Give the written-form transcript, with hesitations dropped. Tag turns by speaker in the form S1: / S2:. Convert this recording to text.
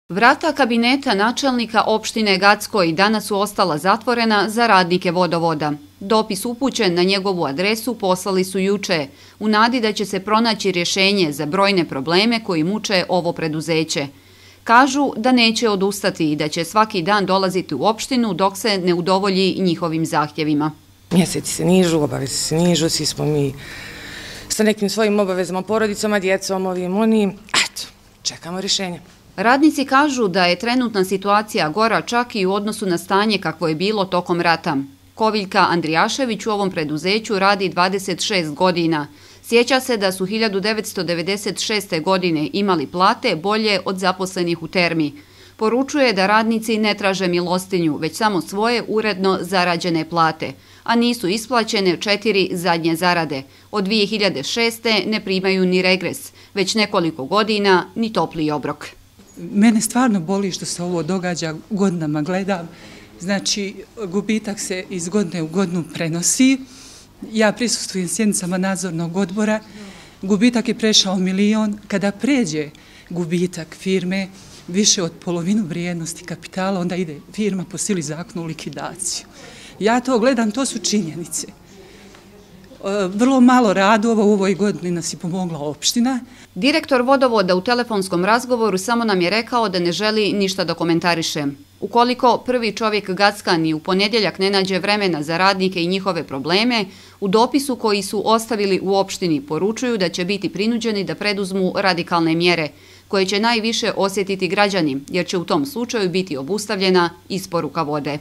S1: Vrata kabineta načelnika opštine Gackoj danas su ostala zatvorena za radnike vodovoda. Dopis upućen na njegovu adresu poslali su juče, u nadi da će se pronaći rješenje za brojne probleme koji muče ovo preduzeće. Kažu da neće odustati i da će svaki dan dolaziti u opštinu dok se ne udovolji njihovim zahtjevima.
S2: Mjeseci se nižu, obaveze se nižu, svi smo mi sa nekim svojim obavezama, porodicama, djecom, onim. Eto, čekamo rješenje.
S1: Radnici kažu da je trenutna situacija gora čak i u odnosu na stanje kakvo je bilo tokom rata. Koviljka Andrijašević u ovom preduzeću radi 26 godina. Sjeća se da su 1996. godine imali plate bolje od zaposlenih u Termi. Poručuje da radnici ne traže milostinju, već samo svoje uredno zarađene plate, a nisu isplaćene 4 zadnje zarade. Od 2006. ne primaju ni regres, već nekoliko godina ni topli obrok.
S3: Mene stvarno boli što se ovo događa, godinama gledam. Znači, gubitak se iz godine u godinu prenosi. Ja prisustvujem sjednicama nadzornog odbora. Gubitak je prešao 1 milion. Kada pređe gubitak firme više od polovinu vrijednosti kapitala, onda ide firma po sili zakona u likvidaciju. Ja to gledam, to su činjenice. Vrlo malo radova u ovoj godini nas je pomogla opština.
S1: Direktor vodovoda u telefonskom razgovoru samo nam je rekao da ne želi ništa da komentariše. Ukoliko prvi čovjek Gackan i u ponedjeljak ne nađe vremena za radnike i njihove probleme, u dopisu koji su ostavili u opštini poručuju da će biti prinuđeni da preduzmu radikalne mjere, koje će najviše osjetiti građani, jer će u tom slučaju biti obustavljena isporuka vode.